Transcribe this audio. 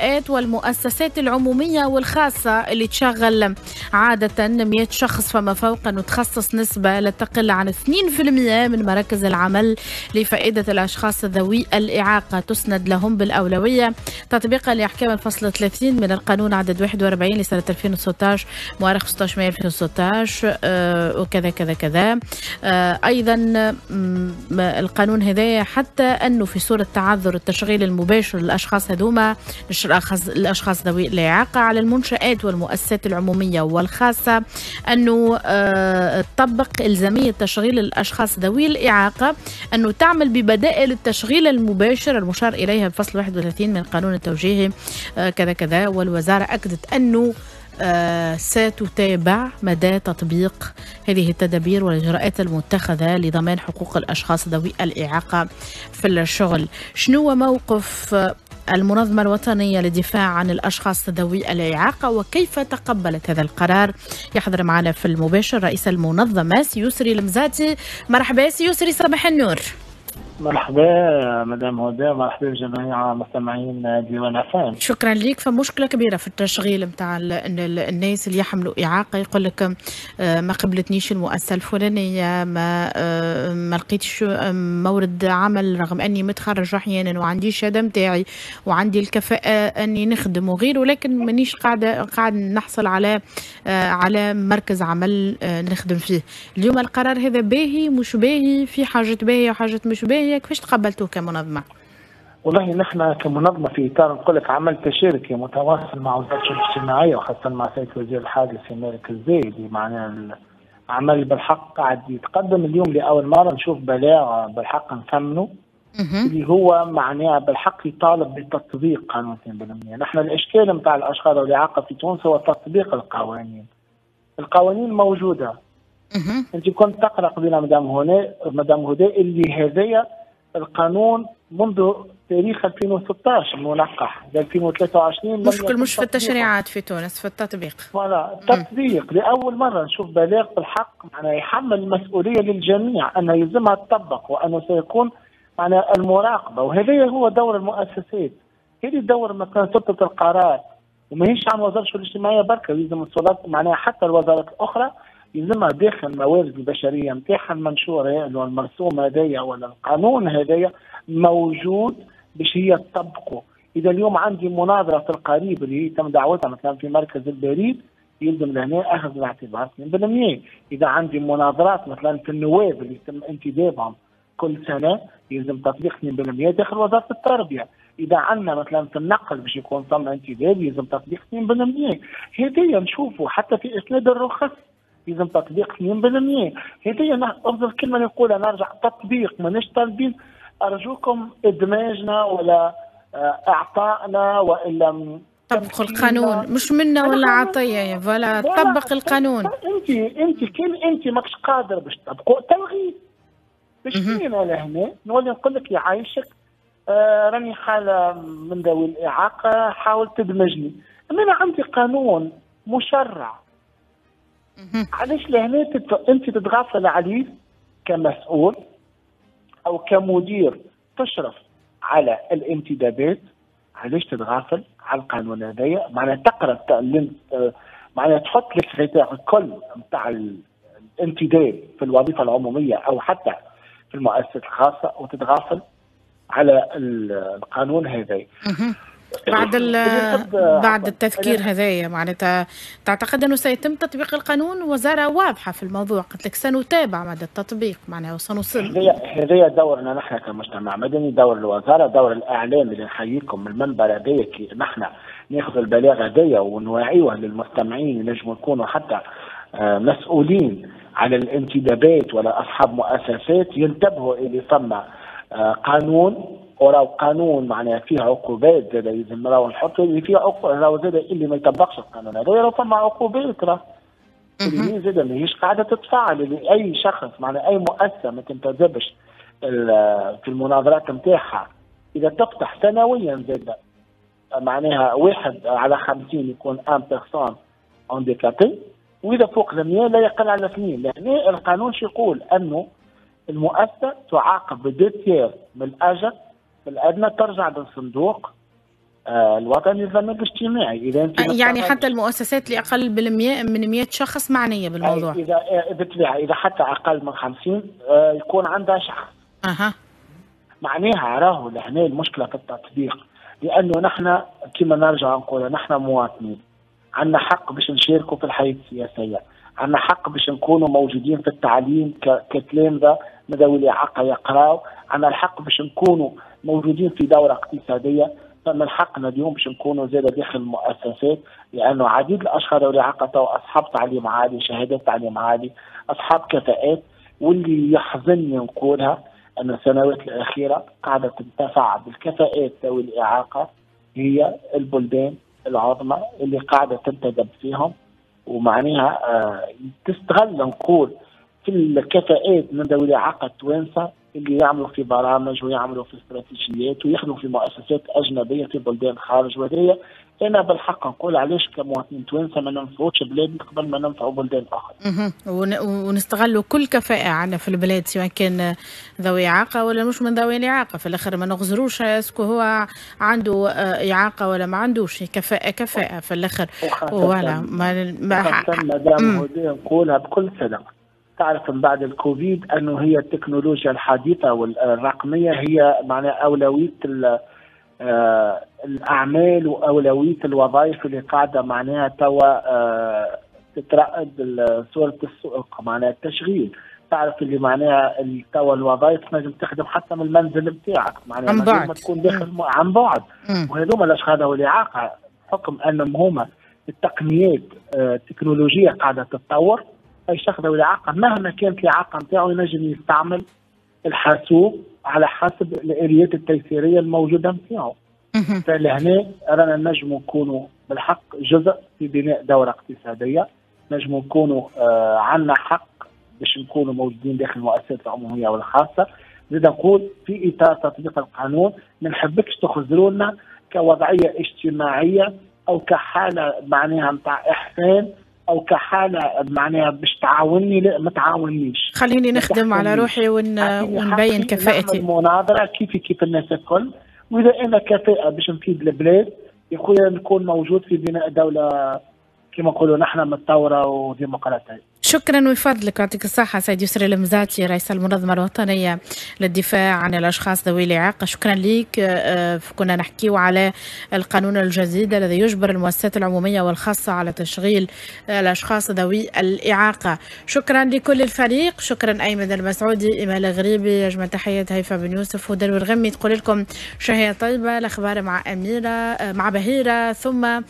المنشآت والمؤسسات العمومية والخاصة اللي تشغل عادة 100 شخص فما فوق أنه تخصص نسبة لا تقل عن 2% من مراكز العمل لفائدة الأشخاص ذوي الإعاقة، تسند لهم بالأولوية تطبيقا لأحكام الفصل 30 من القانون عدد 41 لسنة 2016 مؤرخ 16 مايو 2016 وكذا كذا كذا. أيضا القانون هذا حتى أنه في صورة تعذر التشغيل المباشر للأشخاص هذوما، الأشخاص ذوي الإعاقة، على المنشآت والمؤسسات العمومية والخاصة أنه تطبق إلزامية تشغيل الأشخاص ذوي الإعاقة، أنه تعمل ببدائل التشغيل المباشر المشار إليها بفصل 31 من القانون التوجيهي كذا كذا. والوزارة أكدت أنه ستتابع مدى تطبيق هذه التدابير والإجراءات المتخذة لضمان حقوق الأشخاص ذوي الإعاقة في الشغل. شنو موقف المنظمة الوطنية للدفاع عن الأشخاص ذوي الإعاقة وكيف تقبلت هذا القرار؟ يحضر معنا في المباشر رئيس المنظمة سيسري المزاتي. مرحبا سيسري، صباح النور. مرحبا مدام هدى، مرحبا بجميع مستمعين ديوان أفام. شكرا لك. فمشكلة كبيرة في التشغيل نتاع الناس اللي يحملوا إعاقة، يقول لك ما قبلتنيش المؤسسة الفلانية، ما لقيتش مورد عمل رغم أني متخرج أحيانا وعندي الشهادة نتاعي وعندي الكفاءة أني نخدم وغيره، ولكن مانيش قاعد نحصل على مركز عمل نخدم فيه. اليوم القرار هذا باهي مش باهي؟ في حاجات باهية وحاجات مش باهية، كيفاش تقبلتوه كمنظمة؟ والله نحن كمنظمة في إطار نقول لك عمل تشاركي متواصل مع وزارة الشؤون الاجتماعية وخاصة مع سيد وزير الحادث سي مالك الزايدي، معناها العمل بالحق قاعد يتقدم. اليوم لأول مرة نشوف بلاغ بالحق نثمنه اللي هو معناها بالحق يطالب بتطبيق قانون 2%. نحن الإشكال نتاع الأشخاص ذوي الإعاقة في تونس هو تطبيق القوانين. القوانين موجودة. أنت كنت تقرأ قبيلة مدام هدى اللي هذايا القانون منذ تاريخ 2016 المنقح ل 2023. مشكل مش في التشريعات في تونس، في التطبيق. voilà التطبيق لأول مرة نشوف بلاغ بالحق معناها يحمل المسؤولية للجميع أنه يلزمها تطبق وأنه سيكون معناها المراقبة، وهذا هو دور المؤسسات. هذه دور مثلا سلطة القرار، وماهيش عن وزارة الشؤون الاجتماعية بركة، يلزم السلطات معناها حتى الوزارات الأخرى يلزمها داخل الموارد البشرية نتاعها المنشور المرسوم هذايا ولا القانون هذايا موجود باش هي تطبقه. اذا اليوم عندي مناظرة في القريب اللي هي تم دعوتها مثلا في مركز البريد، يلزم لهنا اخذ الاعتبار 2%. اذا عندي مناظرات مثلا في النواب اللي يتم انتدابهم كل سنة، يلزم تطبيق 2% داخل وزارة التربية. اذا عندنا مثلا في النقل باش يكون ثم انتداب، يلزم تطبيق 2%. هذايا نشوفوا حتى في اسناد الرخص يلزم تطبيق 2%. هذه افضل كلمة نقولها، نرجع تطبيق، ماناش طالبين ارجوكم ادماجنا ولا اعطائنا والا طبقوا القانون، مش منا ولا عطية يا voilà، طبق القانون. انت كان انت ماكش قادر باش تطبقوا تلغيه. باش كاين لهنا نولي نقول لك يعيشك راني حاله من ذوي الاعاقة، حاول تدمجني. اما انا عندي قانون مشرع، علاش لهنا انت تتغافل عليه كمسؤول او كمدير تشرف على الانتدابات؟ علاش تتغافل على القانون هذايا؟ معناها تقرا معناها تحط les critères الكل نتاع الانتداب في الوظيفة العمومية او حتى في المؤسسات الخاصة وتتغافل على القانون هذايا. بعد التذكير هذايا معناتها تعتقد انه سيتم تطبيق القانون؟ وزارة واضحة في الموضوع، قلت لك سنتابع مدى التطبيق معناها وسنصل. هذايا دورنا نحن كمجتمع مدني، دور الوزارة، دور الاعلام اللي نحييكم من المنبر هذايا، كي نحن ناخذ البلاغ هذايا ونوعيوه للمستمعين ينجموا يكونوا حتى مسؤولين على الانتدابات ولا اصحاب مؤسسات ينتبهوا اللي ثم قانون، وراو قانون معناها فيه عقوبات زاد لازم راهو نحطوا اللي فيه راهو زاد اللي ما يطبقش القانون هذا راهو فما عقوبات، راه اللي هي زاد ماهيش قاعدة تتفعل. اللي اي شخص معناها اي مؤسسة ما تنتدبش في المناظرات نتاعها، اذا تفتح سنويا زاد معناها 1 على 50 يكون une personne handicapée، واذا فوق 100 لا يقل على 2. لهنا القانون شو يقول؟ انه المؤسسة تعاقب ب 2/3 من الاجر الأدنى، ترجع للصندوق الوطني للضمان الاجتماعي. اذا انت يعني حتى المؤسسات اللي اقل من 100 شخص معنية بالموضوع. اذا بالطبيعة اذا حتى اقل من 50 يكون عندها شخص. معناها راهو لهنا المشكلة في التطبيق، لانه نحن كما نرجع نقول نحن مواطنين، عندنا حق باش نشاركوا في الحياة السياسية، عندنا حق باش نكونوا موجودين في التعليم كتلامذه ذوي الاعاقة يقراوا، عندنا الحق باش نكونوا موجودين في دوره اقتصادية، فمن حقنا اليوم باش نكونوا زاد داخل المؤسسات، لانه عديد الاشخاص ذوي الاعاقة تو اصحاب تعليم عالي، شهادات تعليم عالي، اصحاب كفاءات. واللي يحزنني نقولها ان السنوات الاخيرة قاعدة تنتفع بالكفاءات ذوي الاعاقة هي البلدان العظمى اللي قاعدة تنتدب فيهم، ومعناها تستغل نقول في الكفاءات من ذوي الاعاقة التوانسة اللي يعملوا في برامج ويعملوا في استراتيجيات ويخدموا في مؤسسات اجنبية في بلدان خارج. وهذه انا بالحق نقول علاش كمواطنين توانسة ما ننفعوش بلادنا قبل ما ننفعوا بلدان اخرى. ونستغلوا كل كفاءة عندنا في البلاد، سواء كان ذوي اعاقه ولا مش من ذوي الاعاقة، في الاخر ما نغزروش est-ce que هو عنده اعاقه ولا ما عندوش، كفاءة كفاءة في الاخر. ولا ما مدام نقولها بكل صدق، تعرف من بعد الكوفيد انه هي التكنولوجيا الحديثة والرقميه هي معناها اولوية الاعمال واولويه الوظائف اللي قاعدة معناها توا تترأد صوره السوق، معناها التشغيل. تعرف اللي معناها توا الوظائف تنجم تخدم حتى من المنزل نتاعك، معناها عن بعد، ما تكون داخل عن بعد. وهذوما الاشخاص ذوي الاعاقة بحكم انهم هما التقنيات التكنولوجية قاعدة تتطور، اي شخص ذوي الاعاقة مهما كانت الاعاقة نتاعو ينجم يستعمل الحاسوب على حسب الاليات التيسيريه الموجودة نتاعو. فلهنا رانا نجموا نكونوا بالحق جزء في بناء دوره اقتصادية، نجموا نكونوا عندنا حق باش نكونوا موجودين داخل المؤسسات العمومية والخاصة. زيد نقول في اطار تطبيق القانون ما نحبكش تخزرونا كوضعيه اجتماعية او كحاله معناها نتاع احسان او كحاله معناها باش تعاوني، لا ما تعاونيش، خليني نخدم على روحي ونبين كفاءتي. مناظرة كيف كيف الناس الكل، واذا انا كفاءة باش نفيد البلاد يا خويا نكون موجود في بناء دولة كما نقولوا نحن متطورة وديمقراطيه. شكرا ويفضلك، يعطيك الصحة سيد يسري المزاتي رئيس المنظمة الوطنية للدفاع عن الأشخاص ذوي الإعاقة. شكرا لك. كنا نحكيو على القانون الجديد الذي يجبر المؤسسات العمومية والخاصة على تشغيل الأشخاص ذوي الإعاقة. شكرا لكل الفريق، شكرا أيمن المسعودي، إيمان الغريبي، أجمل تحيات هيفا بن يوسف ودلو الغمي. تقول لكم شهية طيبة. الأخبار مع أميرة، مع بهيرة، ثم